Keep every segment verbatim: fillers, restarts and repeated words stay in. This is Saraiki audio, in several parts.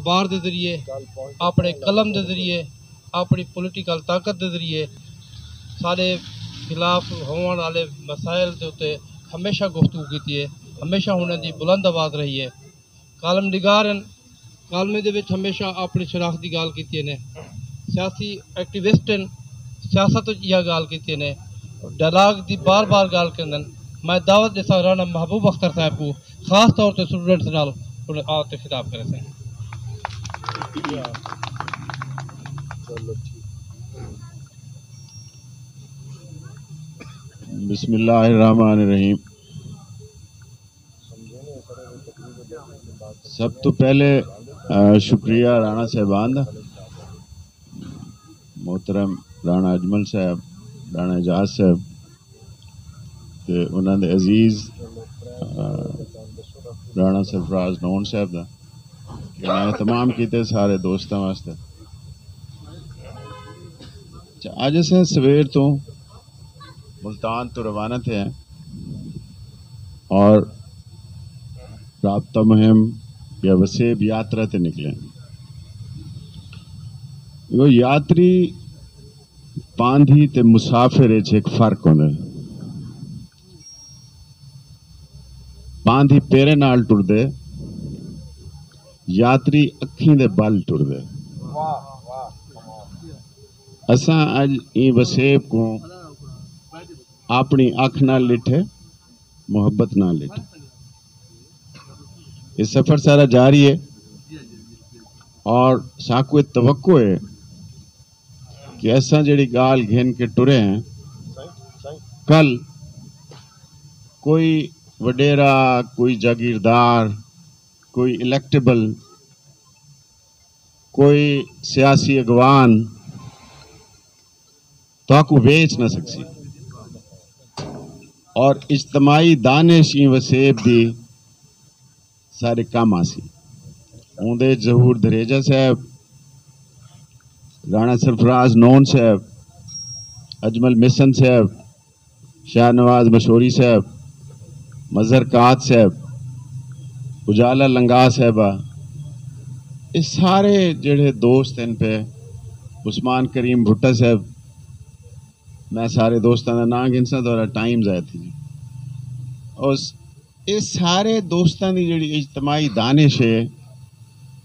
اخبار دے ذریعے، اپݨے قلم دے ذریعے، اپݨی پولیٹیکل طاقت دے ذریعے ساݙے خلاف ہووݨ والے مسائل دے اتے ہمیشہ گفتگو کیتی ہے، ہمیشہ انہاں دی بلند آواز رہی ہے۔ کالم نگار ہن، کالمیں دے وچ ہمیشہ اپݨی شناخت دی ڳالھ کیتی نے، سیاسی ایکٹیوسٹ ہن، سیاست وچ ایہا ڳالھ کیتی نے، ڈائلاگ دی بار بار ڳالھ کریندن۔ میں دعوت ݙیساں رانا محبوب اختر صاحب کوں، خاص طور تے اسٹوڈنٹس نال انہاں آ تے خطاب کریسن۔ بسم اللہ الرحمن الرحیم۔ سب تو پہلے، آ، شکریہ رانا صاحبان دا، محترم رانا اجمل صاحب، رانا اعجاز صاحب، تے انہاں دے عزیز، آ، رانا سرفراز نون صاحب دا، کہ انہاں نے اہتمام کیتے سارے دوستاں واسطے۔ اچھا، اڄ اساں سویر توں ملتان توں روانہ تھئے ہیں اور رابطہ مہم یا وسیب یاترا تے نکلے ہیں۔ وہ یاتری پاندھی تے مسافر وچ ایک فرق ہوندا ہے۔ پاندھی پیرے نال ٹردے، یاتری اکھیں دے بل ٹردے۔ اساں اڄ ایں وسیب کوں اپݨی اکھ نال ݙٹھے، محبت نال ݙٹھے۔ یہ سفر سارا جاری ہے اور ساکوں یہ توقع ہے کہ اساں جڑی ڳالھ گھن کے ٹرے ہیں، کل کوئی وݙیرا، کوئی جاگیردار، کوئی الیکٹیبل، کوئی سیاسی اڳواݨ تہاکوں ویچ نہ سڳسی۔ اور اجتماعی دانش ایں وسیب دی سارے کم آسی۔ اوندے ظہور دھریجہ صاحب، رانا سرفراز نون صاحب، اجمل محسن صاحب، شاہ نواز مشوری صاحب، مظہر قات صاحب، اجالا لنگا صاحبہ، یہ سارے جڑے دوست ہیں پہ، عثمان کریم بھٹہ صاحب، میں سارے دوستاں دا ناں گھنساں، تہاݙا ٹائم ضائع تھی جی۔ اس، اے سارے دوستاں دی جڑی اجتماعی دانش ہے،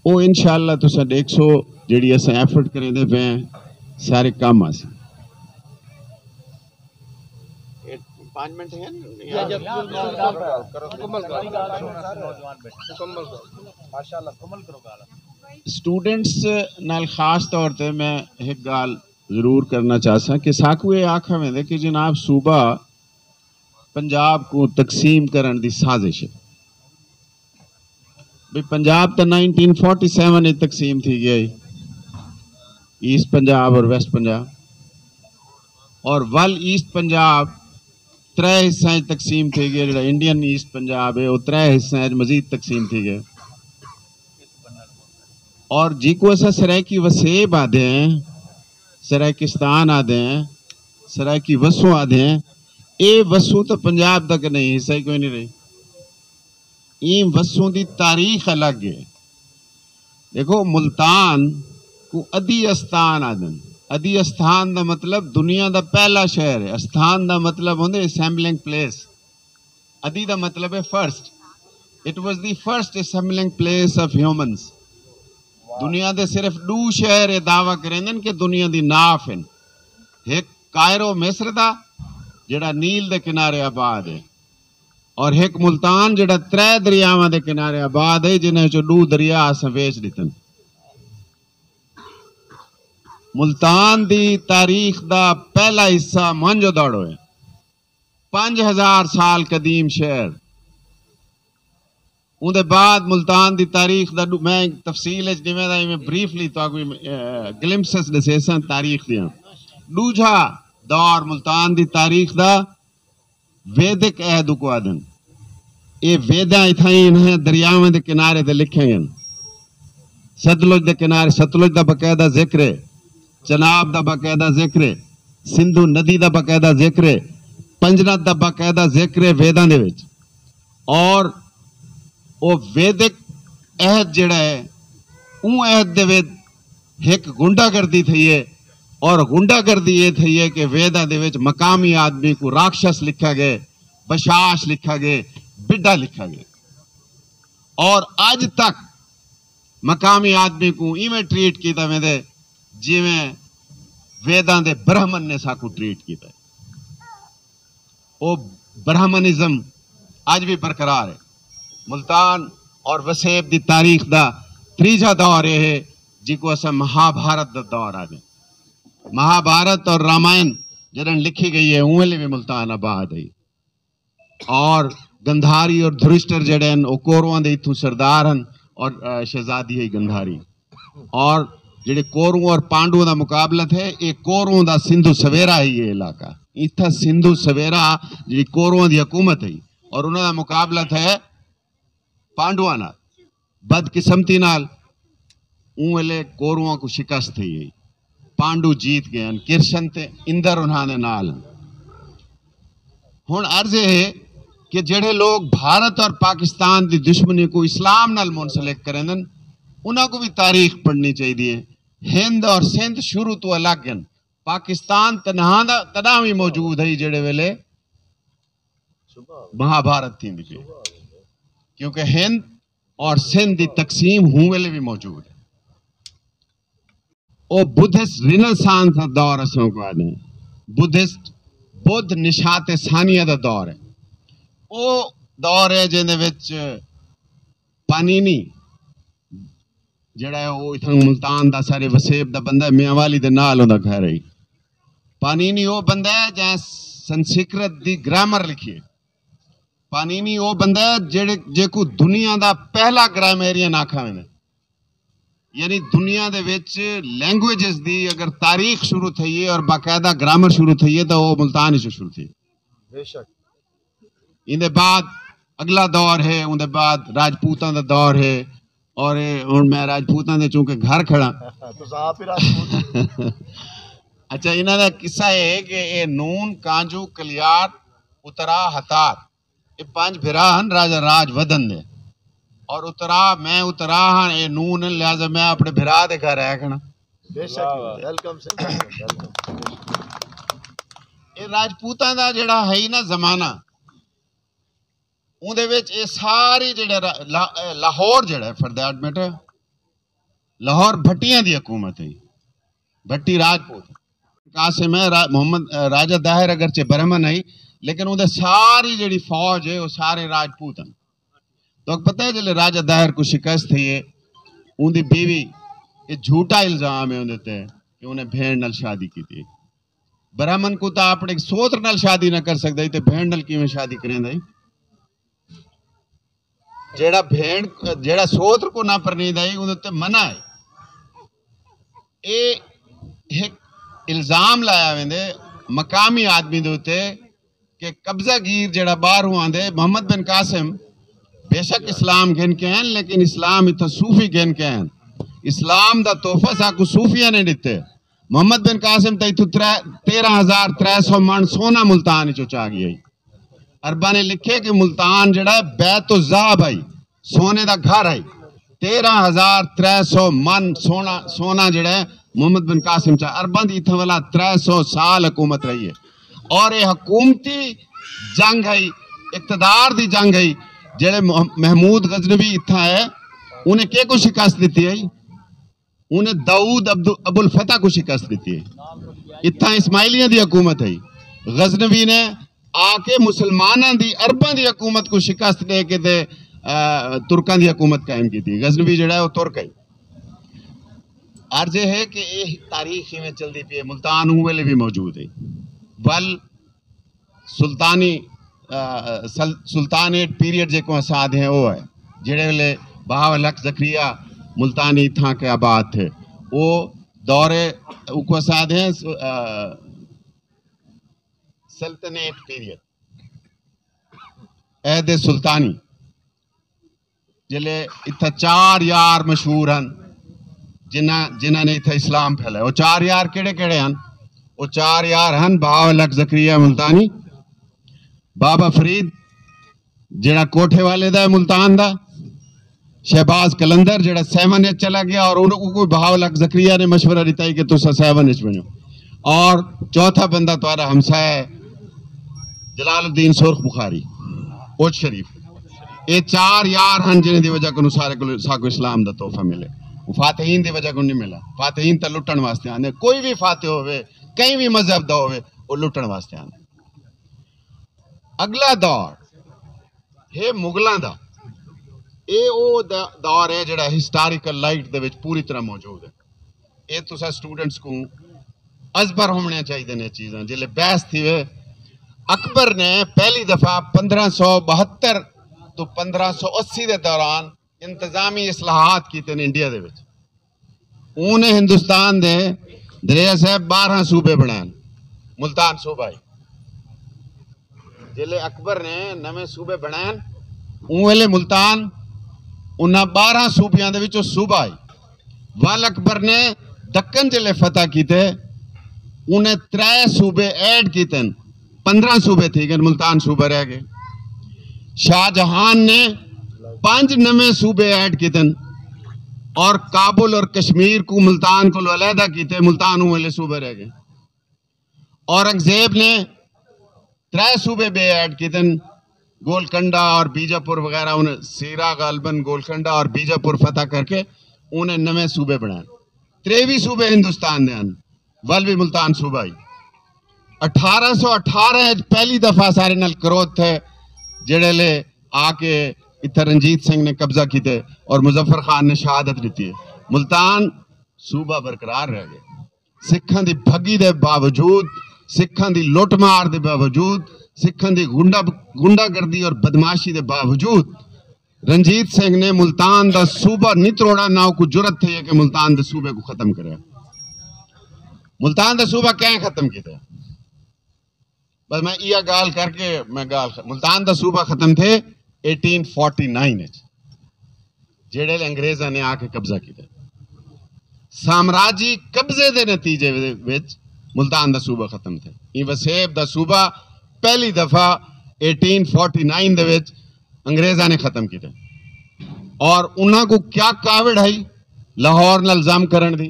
او انشاءاللہ تساں ݙیکھسو، جڑی اساں ایفرٹ کریندے پئے ہیں، سارے کم آسی۔ اے پانچ منٹ ہے نا؟ اسٹوڈنٹس نال خاص طور تے میں ایک ڳالھ ضرور کرنا چاہساں کہ ساکوں اے آکھا ویندے کہ جناب، صوبہ پنجاب کوں تقسیم کرݨ دی سازش ہے۔ بھئی، پنجاب تاں نائنٹین فورٹی سیون وچ تقسیم تھی ڳیا ہے، ایسٹ پنجاب اور ویسٹ پنجاب، اور ول ایسٹ پنجاب ترے حصہ وچ تقسیم تھی ڳیا۔ جڑا انڈین ایسٹ پنجاب ہے، وہ ترے حصہ وچ مزید تقسیم تھی ڳیا۔ اور جیکوں اساں سرائیکی وسیب آہدے ہیں، سرائیکستان آہدے ہیں، سرائیکی وسوں آہدے ہیں، اے وسوں تو پنجاب دا کہیں حصہ ہی کوئی نہیں رہی۔ ایں وسوں دی تاریخ الگ ہے۔ ݙیکھو، ملتان کوں ادی استان آہدن۔ ادی استان دا مطلب دنیا دا پہلا شہر ہے۔ استان دا مطلب ہوندے اسمبلنگ پلیس۔ ادی دا مطلب ہے first. It was the first assembling place of humans۔ دنیا دے صرف ݙو شہر اے دعویٰ کریندن کہ دنیا دی ناف ہن۔ ہک کائرو مصر دا، جڑا نیل دے کنارے آباد ہے، اور ہک ملتان، جڑا ترے دریاواں دے کنارے آباد ہے، جنہاں وچوں ݙو دریا اساں ویچ ݙتن۔ ملتان دی تاریخ دا پہلا حصہ موہنجو دڑو ہے، پنج ہزار سال قدیم شہر۔ اوندے بعد ملتان دی تاریخ دا ݙو-، میں تفصیل وچ ݙیویندا، ایویں بریفلی تہاکوں، اے، گلمپسز ݙسیساں تاریخ دیاں۔ ݙوجھا دور ملتان دی تاریخ دا ویدک عہد کوں آہدن۔ اے ویداں اتھائیں انہاں دریاواں دے کنارے تے لکھیاں ہن۔ ستلج دے کنارے، ستلج دا باقاعدہ ذکر ہے، چناب دا باقاعدہ ذکر ہے، سندھو ندی دا باقاعدہ ذکر ہے، پنجنت دا باقاعدہ ذکر ہے ویداں دے وچ۔ اور او ویدک عہد جڑا ہے، اوں عہد دے وچ ہک غنڈہ گردی تھئی ہے، اور غنڈہ گردی یہ تھئی ہے کہ ویداں دے وچ مقامی آدمی کو راکشس لکھا گئے، بشاش لکھا گئے، بڈھا لکھا گئے۔ اور اج تک مقامی آدمی کو ایویں ٹریٹ کیتا ویندے جویں ویداں دے برہمن نے ساکو ٹریٹ کیتا ہے۔ او برہمنزم اج بھی برقرار ہے۔ ملتان اور وسیب دی تاریخ دا تریجھا دور یہ ہے، جی کو اساں مہابھارت دا دور آدھے۔ مہابھارت اور رامائن جدن لکھی گئی ہے، اوں ویلے بھی ملتان آباد ہے۔ اور گندھاری اور دھرشٹر جڑے ہیں، وہ کورواں دے اتھوں سردار ہیں، اور، آ، شہزادی ہے گندھاری۔ اور جڑے کوروں اور پانڈوؤں دا مقابلہ تھے، یہ کوروں دا سندھو سویرا ہے یہ علاقہ۔ اتھا سندھو سویرا جڑی کوروں دی حکومت ہے، اور انہاں دا مقابلہ تھے پانڈواں نال۔ بدقسمتی نال اوں ویلے کورواں کو شکست تھئی ہے۔ پانڈو جیت گئے ہیں، کرشن تے اندر انہاں دے نال ہیں۔ ہن عرض یہ ہے کہ جڑے لوگ بھارت اور پاکستان دی دشمنی کو اسلام نال منسلک کریندن، انہاں کو بھی تاریخ پڑھنی چاہیے۔ ہند اور سندھ شروع تو الگ ہیں۔ پاکستان تنہا دا تداں بھی موجود ہے جڑے ویلے مہابھارت تھیندی پئی، کیونکہ ہند اور سندھ دی تقسیم ہوں ویلے بھی موجود ہے۔ او بدھسٹ رینیسانس دا دور اساں کو آدھے ہیں۔ بدھسٹ، بدھ نشات ثانیہ دا دور ہے۔ او دور ہے جن دے وچ پانینی جڑا ہے، او اتھاں ملتان دا، سارے وسیب دا بندہ ہے، میاں والی دے نال اوندا گھر ہے۔ پانینی او بندہ ہے جیں سنسکرت دی گرامر لکھی ہے۔ پانینی او بندہ ہے جڑے، جیکوں دنیا دا پہلا گرامرین آکھا ویندے۔ یعنی دنیا دے وچ لینگویجز دی اگر تاریخ شروع تھئی ہے اور باقاعدہ گرامر شروع تھئی ہے، تاں او ملتان وچوں شروع تھئی۔ بے شک۔ ایندے بعد اگلا دور ہے، اوندے بعد راجپوتاں دا دور ہے، اور اے ہن میں راجپوتاں دے چونکہ گھر کھڑا۔ تساں آپ ہی راجپوت۔ اچھا، انہاں دا قصہ اے ہے کہ اے نون، کانجو، کلیار، اترا، ہتار، اے پنج بھرا ہن راجہ راج ودھن دے۔ اور اترا، میں اترا ہاں، اے نون ہن، لہذا میں اپنے بھرا دے گھر رہ کھڑا۔ بے شک، واہ واہ۔ Welcome sir, welcome. اے راجپوتاں دا جڑا ہے نا زمانہ، اوندے وچ اے ساری جڑے را-، لا-، اے لاہور جڑا ہے، for that matter، لاہور بھٹیاں دی حکومت ہے، بھٹی راجپوت۔ قاسم ہے، را-، محمد، اے، راجہ داہر اگرچہ برہمن ہے، لیکن اوندے ساری جڑی فوج ہے، وہ سارے راجپوت ہیں۔ تو پتہ ہے، جلے راجہ داہر کو شکست تھئی ہے، اوندی بیوی، یہ جھوٹا الزام ہے اوندے تے کہ انہیں بھین نال شادی کی تھی۔ برہمن کو تاں اپنے سوتر نال شادی نہ کر سکدا ہی، تے بھین نال کیویں شادی کریندا ہی؟ جیڑا بھین، جیڑا سوتر کو نہ پرنیندا ہی، اوندے تے منع ہے۔ اے ہک الزام لایا ویندے مقامی آدمی دے اتے کہ قبضہ گیر جیڑا باہروں آندے، محمد بن قاسم بے شک اسلام گھن کے ہیں، لیکن اسلام اتھاں صوفی گھن کے ہیں۔ اسلام دا تحفہ ساکو صوفیاں نے ڈتے۔ محمد بن قاسم تاں اتھوں ترے، تیرہ ہزار ترے سو من سونا ملتان وچوں چا گیا۔ عرباں نے لکھے کہ ملتان جڑا ہے بیت الذہب ہے، سونے دا گھر ہے۔ تیرہ ہزار ترے سو من سونا، سونا جڑا ہے محمد بن قاسم چا۔ عرباں دی اتھاں والا ترے سو سال حکومت رہی ہے۔ اور یہ حکومتی جنگ ہے، اقتدار دی جنگ ہے۔ جڑے مح-، محمود غزنوی اتھاں ہے، انہیں کے کو شکست دیتی ہے؟ انہیں داؤد عبد-، ابو الفتح کو شکست دیتی ہے۔ اتھاں اسماعیلیاں دی حکومت ہے۔ غزنوی نے آ کے مسلماناں دی، عرباں دی حکومت کو شکست دے کے تے، آ، ترکاں دی حکومت قائم کی تھی۔ غزنوی جڑا ہے، وہ ترک ہے۔ عرض یہ ہے کہ یہ تاریخ میں چلتی پئی ہے، ملتان اوں ویلے بھی موجود ہے۔ ول سلطانی، آ، سل-، سلطانیٹ پیریڈ جیکوں اساں آدھے ہیں، وہ ہے۔ جڑے ویلے بہاول حق زکریا ملتانی اتھاں کے آباد تھے، وہ دور اوکوں اساں آدھے ہیں، آ، سلطنیٹ پیریڈ، عہد سلطانی۔ جلے اتھا چار یار مشہور ہن، جنہاں، جنہاں نے اتھا اسلام پھیلایا۔ وہ چار یار کیڑے کیڑے ہن؟ وہ چار یار ہن بہاول حق زکریا ملتانی، بابا فرید، جڑا کوٹھے والے دا ہے ملتان دا، شہباز قلندر جڑا سیون اچ چلا گیا، اور انہوں کو کوئی بہاول حق زکریا نے مشورہ دیتا ہے کہ تسا سیون اچ بنو۔ اور چوتھا بندہ تمہارا ہمسایہ ہے جلال الدین سرخ بخاری، اوچ شریف۔ یہ چار یار ہن جنہیں دی وجہ کو سارے کو ساکو اسلام دا تحفہ ملے۔ وہ فاتحین دی وجہ کو نہیں ملا۔ فاتحین تا لٹن واسطے آنے۔ کوئی بھی فاتح ہوئے، کہیں بھی مذہب دا ہوئے، وہ لٹن واسطے آنے۔ اگلا دور ہے مغلاں دا۔ اے او دا-، دور ہے جڑا ہسٹوریکل لائٹ دے وچ پوری طرح موجود ہے۔ اے تساں سٹوڈنٹس کو ازبر ہونے چاہیے نے چیزاں۔ جلے بحث تھی وے، اکبر نے پہلی دفعہ پندرہ سو بہتر تو پندرہ سو اسی دے دوران انتظامی اصلاحات کیتے نے انڈیا دے وچ۔ اوں نے ہندوستان دے، دریا صاحب، بارہ صوبے بنائے۔ ملتان صوبہ ہی۔ جلے اکبر نے نویں صوبے بنائے، اوں ویلے ملتان انہاں بارہ صوبیاں دے وچوں صوبہ ہی۔ ول اکبر نے دکن جلے فتح کیتے، انہیں ترے صوبے ایڈ کیتے، پندرہ صوبے تھی گئے، ملتان صوبہ رہ گئے۔ شاہ جہان نے پنج نویں صوبے ایڈ کیتے اور کابل اور کشمیر کو ملتان کو علیحدہ کیتے، ملتان اوں ویلے صوبہ رہ گئے۔ اورنگزیب نے ترے صوبے بے ایڈ کیتے، گولکنڈہ اور بیجاپور وغیرہ، انہیں سیرا غالباً گولکنڈہ اور بیجاپور فتح کر کے انہیں نویں صوبے بنائے۔ تریوی صوبے ہندوستان دے ہن، ول بھی ملتان صوبہ ہی۔ اٹھارہ سو اٹھارہ اچ پہلی دفعہ سارے نال کرودھ تھے، جڑے لے آ کے اتھا رنجیت سنگھ نے قبضہ کیتے اور مظفر خان نے شہادت دیتی ہے۔ ملتان صوبہ برقرار رہ گئے۔ سکھاں دی بھگی دے باوجود، سکھاں دی لٹ مار دے باوجود، سکھاں دی غنڈہ، غنڈہ گردی اور بدمعاشی دے باوجود رنجیت سنگھ نے ملتان دا صوبہ نہیں تروڑا، نہ کو جرت تھی ہے کہ ملتان دے صوبے کو ختم کرے۔ ملتان دا صوبہ کہیں ختم کیتا؟ بس میں یہ گال کر کے میں گال خ-، ملتان دا صوبہ ختم تھے ایٹین فورٹی نائن وچ، جیڑے لے انگریزاں نے آ کے قبضہ کیتا۔ سامراجی قبضے دے نتیجے وچ ملتان دا صوبہ ختم تھے۔ ایں وسیب دا صوبہ پہلی دفعہ ایٹین فورٹی نائن دے وچ انگریزاں نے ختم کیتے۔ اور انہاں کو کیا کاوڑ ہئی لاہور نال ضم کرن دی؟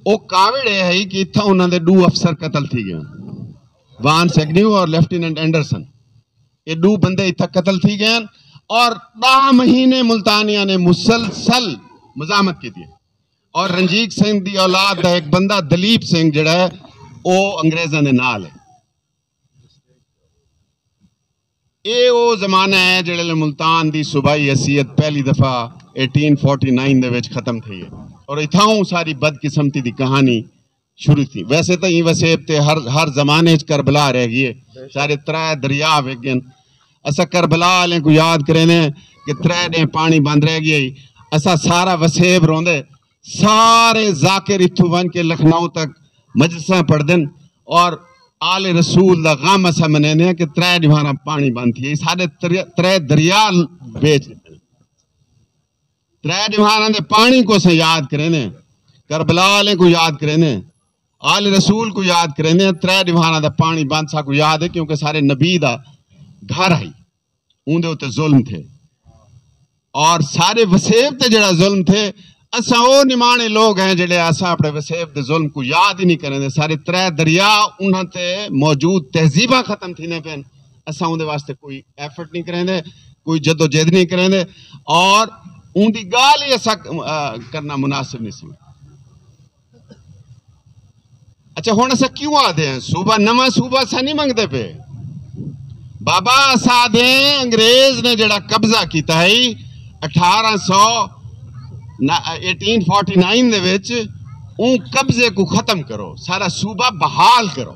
او کاوڑ اے ہئی کہ اتھاں انہاں دے ݙو افسر قتل تھی ڳئے، وان سیگنیو اور لیفٹیننٹ اینڈرسن۔ اے ݙو بندے اتھاں قتل تھی ڳئے اور ݙاہ مہینے ملتانیاں نے مسلسل مزاحمت کیتی۔ اور رنجیت سنگھ دی اولاد دا ایک بندہ دلیپ سنگھ جڑا ہے، او انگریزاں دے نال ہے۔ اے او زمانہ ہے جڑے لے ملتان دی صوبائی حیثیت پہلی دفعہ ایٹین فورٹی نائن دے وچ ختم تھئی ہے اور اتھاؤں ساری بدقسمتی دی کہانی شروع تھی۔ ویسے تاں ایں وسیب تے ہر، ہر زمانے وچ کربلا رہ ڳئی ہے۔ سارے ترے دریا وک ڳئے۔ اساں کربلا والے کو یاد کرینے کہ ترے ݙینھ پانی بند رہ ڳئی ہے۔ اساں سارا وسیب روندے، سارے ذاکر اتھوں ونڄ کے لکھنؤ تک مجلساں پڑھدن اور آل رسول دا غم اساں منیندے ہیں کہ ترے ݙیہاڑاں پاݨی بند تھی۔ ساݙے ترے، ترے دریا بیچ ݙتے۔ ترے ݙیہاڑاں دے پاݨی کو اساں یاد کریندے ہیں، کربلا والے کو یاد کریندے ہیں، آل رسول کو یاد کریندے ہیں۔ ترے ݙیہاڑاں دا پاݨی بند ساکو یاد ہے کیونکہ سارے نبی دا گھر ہے۔ اوندے اتے ظلم تھے اور سارے وسیب تے جڑا ظلم تھے، اساں او نمانے لوگ ہیں جڑے اساں اپنے وسیب دے ظلم کو یاد ہی نہیں کریں دے۔ سارے ترے دریا انہاں تے موجود تہذیباں ختم تھی نے پین، اساں اوندے واسطے کوئی ایفرٹ نہیں کریں دے، کوئی جدوجہد نہیں کریں دے اور اوندی گال ہی اساں، آ، کرنا مناسب نہیں سمجھ۔ اچھا، ہݨ اساں کیوں آہدے ہیں صوبہ؟ نواں صوبہ اساں نہیں منگدے پئے۔ بابا، اساں آہدے ہیں انگریز نے جڑا قبضہ کیتا ہے اٹھارہ سو، ایٹین فورٹی نائن دے وچ، اوں قبضے کو ختم کرو، سارا صوبہ بحال کرو۔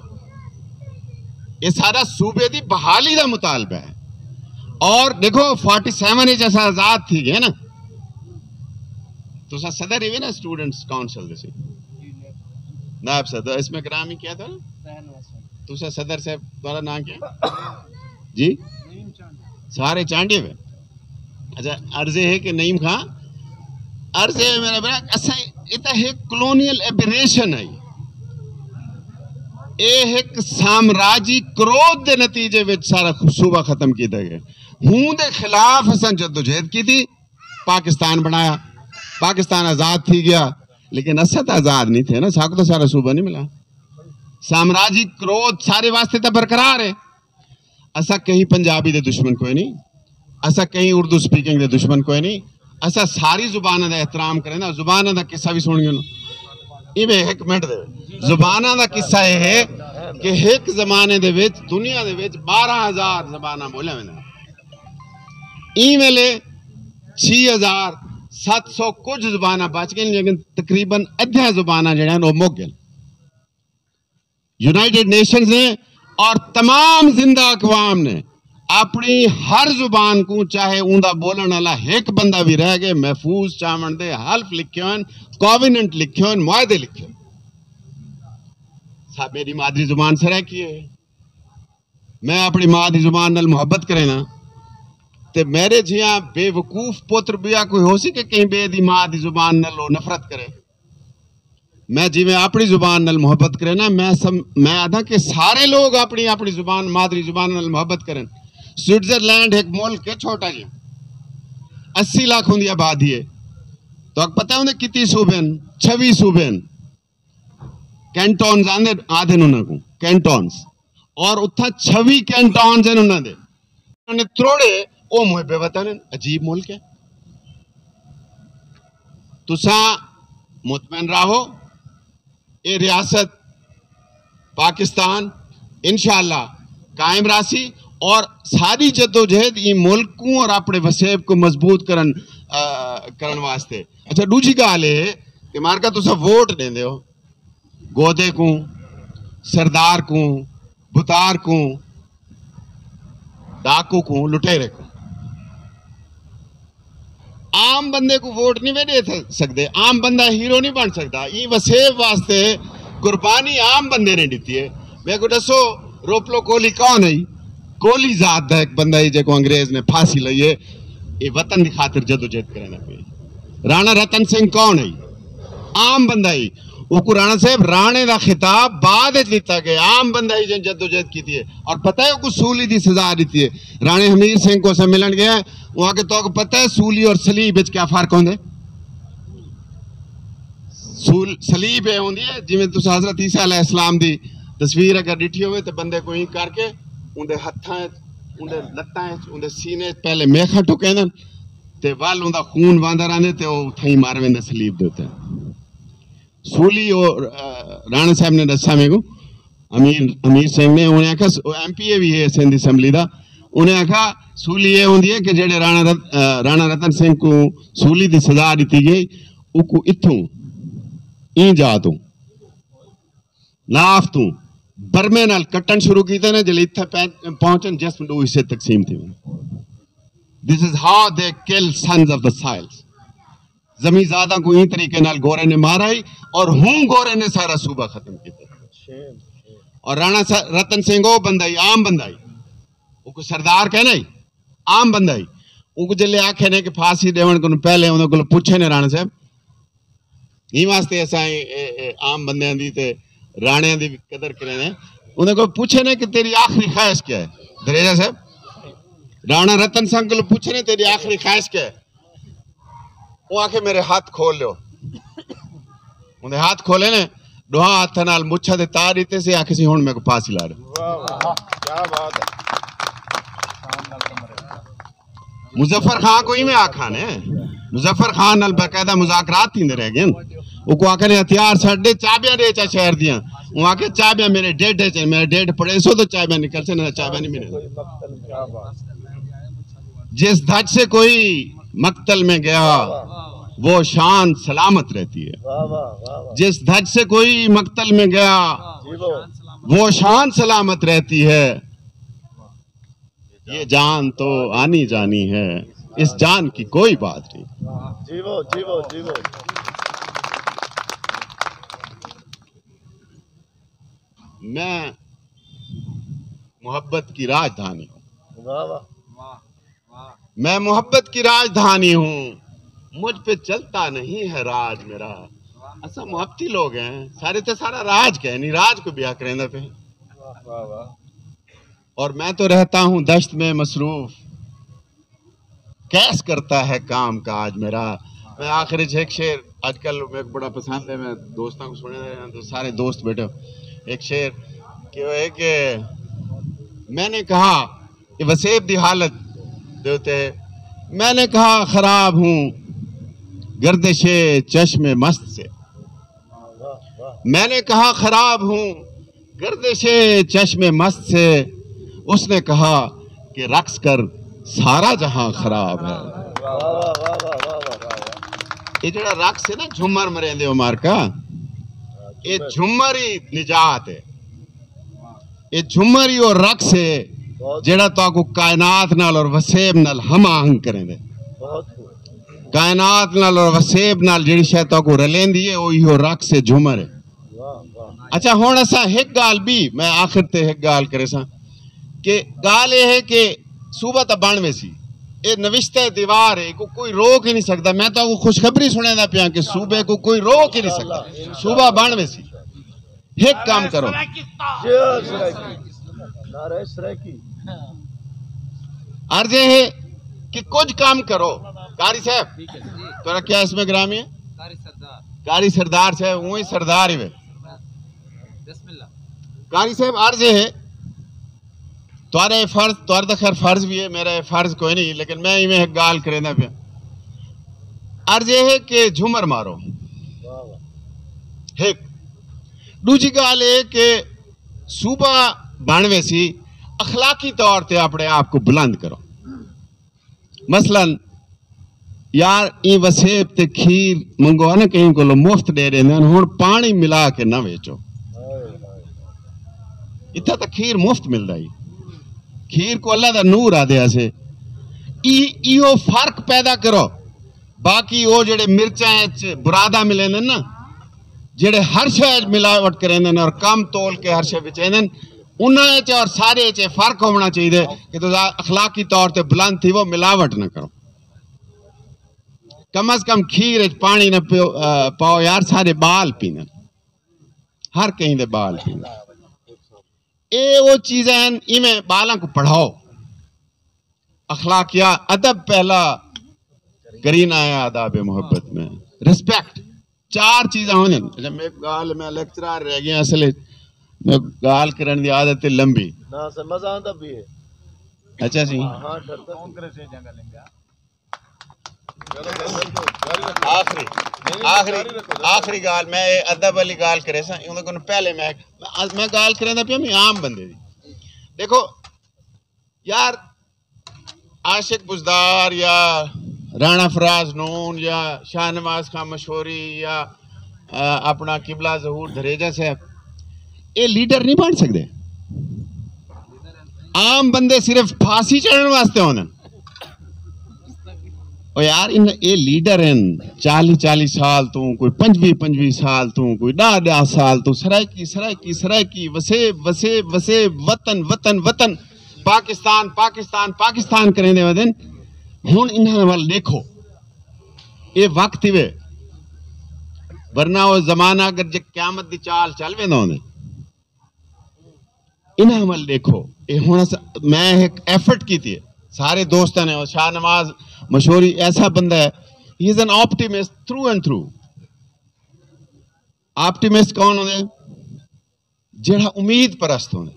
یہ سارا صوبے دی بحالی دا مطالبہ ہے۔ اور دیکھو، فورٹی سیون وچ اساں آزاد تھی ڳئے نا۔ تساں صدر ہی وے نا اسٹوڈنٹس کونسل دے سی؟ نائب صدر، اسم گرامی کیا تھا؟ تساں صدر صاحب، تمہارا نام کیا؟ جی؟ سارے چانڈے وے۔ اچھا، عرض یہ ہے کہ نعیم خان، عرض یہ ہے میرا برا، اساں، یہ تو ایک کلونیل ایبریشن ہے۔ یہ ایک سامراجی کرودھ دے نتیجے وچ سارا صوبہ ختم کیتا گیا۔ ہوں دے خلاف اساں جدوجہد کیتی۔ پاکستان بݨایا، پاکستان آزاد تھی ڳیا، لیکن اساں تاں آزاد نہیں تھے نا، ساکوں تاں سارا صوبہ نہیں ملا۔ سامراجی کرودھ سارے واسطے تاں برقرار ہے۔ اساں کہیں پنجابی دے دشمن کوئی نہیں، اساں کہیں اردو سپیکنگ دے دشمن کوئی نہیں۔ اساں ساری زباناں دا احترام کریں، زباناں دا قصہ بھی سݨ ڳیوں۔ ایویں ہک منٹ دے، زباناں دا قصہ یہ ہے کہ ہک زمانے دے وچ دنیا دے وچ بارہ ہزار زباناں ٻولیاں ویندیاں۔ ایں ویلے چھ ہزار ست سو کچھ زباناں بچ ڳئین، لیکن تقریباً ادھیاں زباناں جڑیاں ہن، او مک ڳئین۔ یونائیٹڈ نیشنز نے اور تمام زندہ اقوام نے اپݨی ہر زبان کوں، چاہے اوندا ٻولݨ والا ہک بندہ وی رہ ڳئے، محفوظ چاوݨ دے حلف لکھے ہوئن، کوویننٹ لکھے ہوئن، معاہدے لکھے ہوئن۔ سا-، میری مادری زبان سرائیکی ہے۔ میں اپݨی ماں دی زبان نال محبت کرینداں، تے میرے جیہاں بے وقوف پتر ٻیا کوئی ہوسی کہ کہیں ٻئے دی ماں دی زبان نال او نفرت کرے؟ میں جیویں اپݨی زبان نال محبت کرینداں، میں سم-، میں آہداں کہ سارے لوگ اپݨی، اپݨی زبان، مادری زبان نال محبت کرن۔ سوئٹزرلینڈ ہک ملک ہے چھوٹا جیہا، اسی لاکھ اوندی آبادی ہے۔ تہاکوں پتہ ہے اوندے کتی صوبے ہن؟ چھوی صوبے ہن۔ کینٹونز آندے، آہدن انہاں کوں، کینٹونز۔ اور اتھاں چھوی کینٹونز ہن انہاں دے۔ انہاں نے تروڑے، او محب وطن ہن۔ عجیب ملک ہے۔ تساں مطمئن راہو، اے ریاست پاکستان انشاءاللہ قائم راہسی، اور ساری جدوجہد ایں ملک کوں اور اپݨے وسیب کوں مضبوط کرن، آ، کرن واسطے۔ اچھا، ݙوجھی ڳالھ اے ہے کہ مارکا تساں ووٹ ݙیندے ہو، گودے کوں، سردار کوں، بتار کوں، ڈاکو کوں، لٹیرے کوں۔ عام بندے کوں ووٹ نہیں وے ݙے تھ-، سڳدے، عام بندہ ہیرو نہیں بݨ سڳدا۔ ایں وسیب واسطے قربانی عام بندے نے ݙتی ہے۔ میکوں ݙسو، روپلو کوہلی کون ہے؟ کوہلی ذات دا ہک بندہ ہے جیکوں انگریز نے پھانسی لئی ہے، اے وطن دی خاطر جدوجہد کریندا پئے۔ رانا رتن سنگھ کون ہے؟ عام بندہ ہے۔ اوکوں رانا صاحب، رانے دا خطاب بعد وچ ݙتا ڳئے، عام بندہ ہی جن جدوجہد کیتی ہے۔ اور پتہ ہے اوکوں سولی دی سزا ݙتی ہے۔ رانے حمیر سنگھ کوں اساں ملݨ ڳئے ہیں، او آکھے، تہاکوں پتہ ہے سولی اور صلیب وچ کیا فرق ہوندے؟ سول-، صلیب اے ہوندی ہے، جیویں تساں حضرت عیسیٰ علیہ السلام دی تصویر اگر ݙٹھی ہووے تے بندے کوں ایں کر کے اوندے ہتھاں وچ، اوندے لتاں وچ، اوندے سینے وچ پہلے میخاں ٹکیندن تے ول اوندا خون واندا رہندے تے او اتھائیں مر ویندے صلیب دے اتے۔ سولی او، آ، رانا صاحب نے ݙسا میکوں، امیر، امیر سنگھ نے، انہیں آکھیا، س-، او ایم پی اے وی ہے سندھ اسمبلی دا، انہیں آکھیا سولی اے ہوندی ہے کہ جیڑھے رانا رت-، آ، رانا رتن سنگھ کوں سولی دی سزا ݙتی ڳئی، اوکوں اتھوں، ایں جا توں، ناف توں، برمے نال کٹݨ شروع کیتے نے، جلے اتھے پہ-، پہنچن، جسم ݙو حصے تقسیم تھی ویندے۔ This is how they kill sons of the soils. زمین زاداں کوں ایں طریقے نال گورے نے مارا ہی، اور ہوں گورے نے سارا صوبہ ختم کیتا۔ اور رانا سا-، رتن سنگھ او بندہ ہی، عام بندہ ہی، او کوئی سردار کہنا ہی، عام بندہ ہی۔ اوکوں جلے آکھے نے کہ پھانسی ݙیوݨ کنوں پہلے انہاں کولوں پچھے نے رانا صاحب، ایں واسطے اساں اے، اے، اے عام بندیاں دی تے راݨیاں دی وی قدر کریندے ہیں۔ انہاں کوں پچھے نے کہ تیری آخری خواہش کیا ہے؟ دھریجہ صاحب، رانا رتن سنگھ کوں پچھے نے، تیری آخری خواہش کیا ہے؟ او آکھے، میرے ہتھ کھول لیو۔ اوندے ہتھ کھولے نے، ݙوہاں ہتھاں نال مچھاں تے تار ݙتے سی، آکھے سی، ہݨ میکوں پھانسی لا ݙے۔ واہ، واہ، کیا بات ہے۔ مظفر خان کوں ایویں آکھا نے، مظفر خان نال باقاعدہ مذاکرات تھیندے رہ ڳئے۔ اوکوں آکھے نے، ہتھیار چھڈ ݙے، چابیاں ݙے چا شہر دیاں۔ او آکھے، چابیاں میرے ڈیڈ وچ ہن، میرے ڈیڈ پڑیسو تو چابیاں نکلسن، نہ چابیاں نہیں ملن۔ جس دھج سے کوئی مقتل میں گیا، وہ شان سلامت رہتی ہے۔ جس دھج سے کوئی مقتل میں گیا، وہ شان سلامت رہتی ہے۔ یہ جان تو آنی جانی ہے، اس جان کی کوئی بات نہیں۔ جیو، جیو، جیو۔ میں محبت کی راجدھانی ہوں۔ واہ، واہ۔ میں محبت کی راجدھانی ہوں، مجھ پہ چلتا نہیں ہے راج میرا۔ اساں محبتی لوگ ہیں، سارے تے سارا راج کہنی، راج کو بیا کریندا پہ۔ واہ، واہ۔ اور میں تو رہتا ہوں دشت میں مصروف۔ کیس کرتا ہے کام کاج میرا۔ میں آخر وچ ایک شعر اج کل میرے کو بڑا پسند ہے، میں دوستاں کو سنے رہے ہیں تو سارے دوست بیٹھے ہو۔ ایک شعر کہ وہ ہے کہ میں نے کہا کہ وسیب دی حالت دے ہوتے ہیں، میں نے کہا خراب ہوں گردش چشم مست سے، میں نے کہا خراب ہوں گردش چشم مست سے، اس نے کہا کہ رقص کر سارا جہاں خراب ہے۔ یہ جڑا رقص ہے نا، جھمر مریندے ہو مارکا، یہ جھمر ہی نجات ہے۔ یہ جھمر ہی وہ رقص ہے جڑا تہاکوں کائنات نال اور وسیب نال ہم آہنگ کریندے۔ کائنات نال اور وسیب نال جڑی شے تہاکوں رلیندی ہے، وہ ایہو رقص ہے، جھمر ہے۔ اچھا، ہن اساں ہک ڳالھ بھی، میں آخر تے ہک ڳالھ کریساں کہ ڳالھ اے ہے کہ صوبہ تاں بݨ ویسی، اے نوشتہ دیوار ہے، کو کوئی روک ہی نہیں سڳدا۔ میں تہاکوں خوشخبری سݨیندا پیاں کہ صوبے کو کوئی روک ہی نہیں سڳدا، صوبہ بݨ ویسی۔ ہک کم کرو، نعرہ سرائیکی۔ عرض اے ہے کہ کجھ کم کرو۔ قاری صاحب، تہاݙا کیا اسم گرامی ہے؟ قاری سردار صاحب، اونہی سردار ہی وے۔ قاری صاحب، عرض اے ہے، تہاݙا اے فرض، تہاݙا خیر فرض بھی ہے، میرا اے فرض کوئی نہیں، لیکن میں ایویں ہک ڳالھ کریندا پیاں۔ عرض اے ہے کہ جھمر مارو۔ ہک۔ ݙوجھی ڳالھ اے کہ صوبہ بݨ ویسی، اخلاقی طور تے اپݨے آپ کو بلند کرو۔ مثلاً یار، ایں وسیب تے کھیر منگوا نا کہیں کولو، مفت ݙے ݙیندے ہن، ہݨ پاݨی ملا کے نہ ویچو۔ اتھاں تاں کھیر مفت ملدا ہی، کھیر کو اللہ دا نور آدھے آسے۔ ای ایہو فرق پیدا کرو۔ باقی او جڑے مرچاں اچ برادہ ملیندن نا، جڑے ہر شے اچ ملاوٹ کریندن اور کم تول کے ہر شے وچیندن، انہاں اچ اور سارے اچ اے فرق ہووݨا چاہیدے کہ تساں اخلاقی طور تے بلند تھیوو، ملاوٹ نہ کرو۔ کم از کم کھیر اچ پاݨی نہ پیو، آ، پاؤ یار، سارے ٻال پیندن، ہر کہیں دے ٻال پیندن۔ اے او چیزاں ہن، ایویں ٻالاں کو پڑھاؤ۔ اخلاقیات، ادب پہلا کرینہ ہے آداب محبت میں، رسپیکٹ۔ چار چیزاں ہوندن۔ اچھا، میں ڳالھ، میں لیکچرار رہ ڳیا اصل وچ، میں ڳالھ کرݨ دی عادت ہے لمبی۔ نہ سر، مزہ آندا بھی ہے۔ اچھا سی۔ ہاں، ہاں، ڈردا۔ آخری، آخری، آخری ڳالھ، میں اے ادب والی ڳالھ کریساں، اوں دے کوں پہلے میں، میں، میں ڳالھ کریندا پیاں میں عام بندے دی۔ دیکھو یار، عاشق بزدار یا رانا فراز نون یا شاہ نواز خان مشہوری یا، آ، اپݨا قبلہ ظہور دھریجہ صاحب، اے لیڈر نہیں بݨ سڳدے۔ عام بندے صرف پھاسی چڑھݨ واسطے ہوندن۔ او یار، ان، اے لیڈر ہن، چالیہہ چالیہہ سال توں، کوئی پنجویہہ پنجویہہ سال توں، کوئی ݙاہ ݙاہ سال توں، سرائیکی، سرائیکی، سرائیکی، وسیب، وسیب، وسیب، وطن، وطن، وطن، پاکستان، پاکستان، پاکستان کریندے ودن۔ ہݨ انہاں ول ݙیکھو، اے وقت ہی وے، ورنہ او زمانہ اگر جے قیامت دی چال چل ویندا ہوندے۔ انہاں ول ݙیکھو، اے ہݨ اس، میں ہک ایفرٹ کیتی ہے، سارے دوستاں نے، اور شاہ نواز مشہوری ایسا بندہ ہے، he is an optimist through and through۔ Optimist کون ہوندے؟ جیڑھا امید پرست ہوندے۔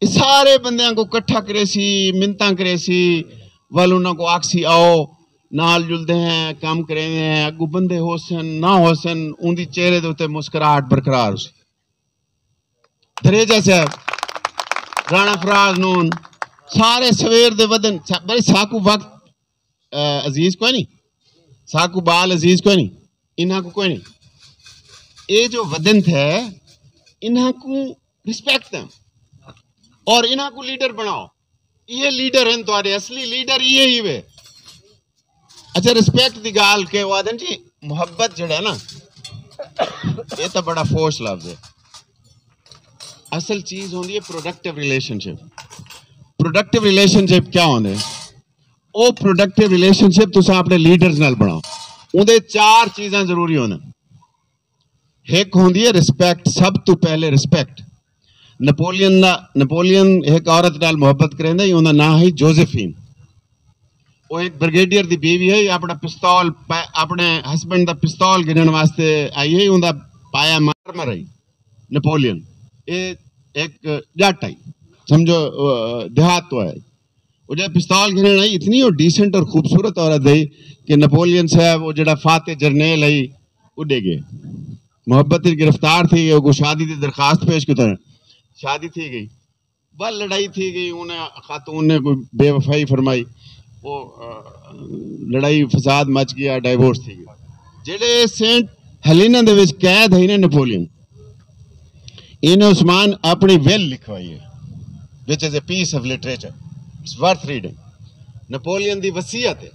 اے سارے بندیاں کو کٹھا کریسی، منتاں کریسی، ول انہاں کو آکھسی آؤ، نال جلدے ہیں، کم کریندے ہیں، اڳوں بندے ہوسن، نہ ہوسن، اوندی چہرے دے اتے مسکراہٹ برقرار ہوسی۔ دھریجہ صاحب، رانا فراز نون، سارے سویر دے ودن، سا-، بھئی ساکوں وقت، آ، عزیز کوئی نہیں، ساکوں ٻال عزیز کوئی نہیں، انہاں کو کوئی نہیں۔ اے جو ودن تھے، انہاں کو رسپیکٹ دیں اور انہاں کو لیڈر بݨاؤ۔ ایہے لیڈر ہن تہاݙے، اصلی لیڈر ایہے ہی وے۔ اچھا، رسپیکٹ دی ڳالھ کہ او آہدن جی، محبت جیڑھا ہے نا، اے تاں بڑا فوش لفظ ہے۔ اصل چیز ہوندی ہے پروڈکٹیو ریلیشن شپ۔ پروڈکٹیو ریلیشن شپ کیا ہوندے؟ او پروڈکٹیو ریلیشن شپ تساں اپݨے لیڈرز نال بݨاؤ۔ اوندے چار چیزاں ضروری ہوندن۔ ہک ہوندی ہے رسپیکٹ، سب توں پہلے رسپیکٹ۔ نپولین دا، نپولین ہک عورت نال محبت کریندا ہی، اوندا ناں ہی جوزیفین۔ وہ ایک بریگیڈیئر دی بیوی ہے، اپنا پستول پا-، اپنے ہسبینڈ دا پستول گھنن واسطے آئی ہے، اوندا پایا مارمر ہے نپولین۔ اے ایک جٹ ہے، سمجھو، آ، دیہات تو ہے۔ وہ جب پستول گھنن آئی، اتنی وہ ڈیسنٹ اور خوبصورت عورت ہے کہ نپولین صاحب، وہ جڑا فاتح جرنیل ہے، اڈے گئے۔ محبت وچ گرفتار تھی گئے، وہ شادی دی درخواست پیش کیتا، شادی تھی گئی۔ بس لڑائی تھی گئی، انہیں خاتون نے کوئی بے وفائی فرمائی، وہ، آ، لڑائی فساد مچ گیا، ڈائیورس تھی گئی۔ جڑے سینٹ ہیلینا دے وچ قید ہے نا نپولین، انہیں عثمان اپنی ویل لکھوائی ہے، which is a piece of literature, it's worth reading. Napoleon دی وصیت ہے،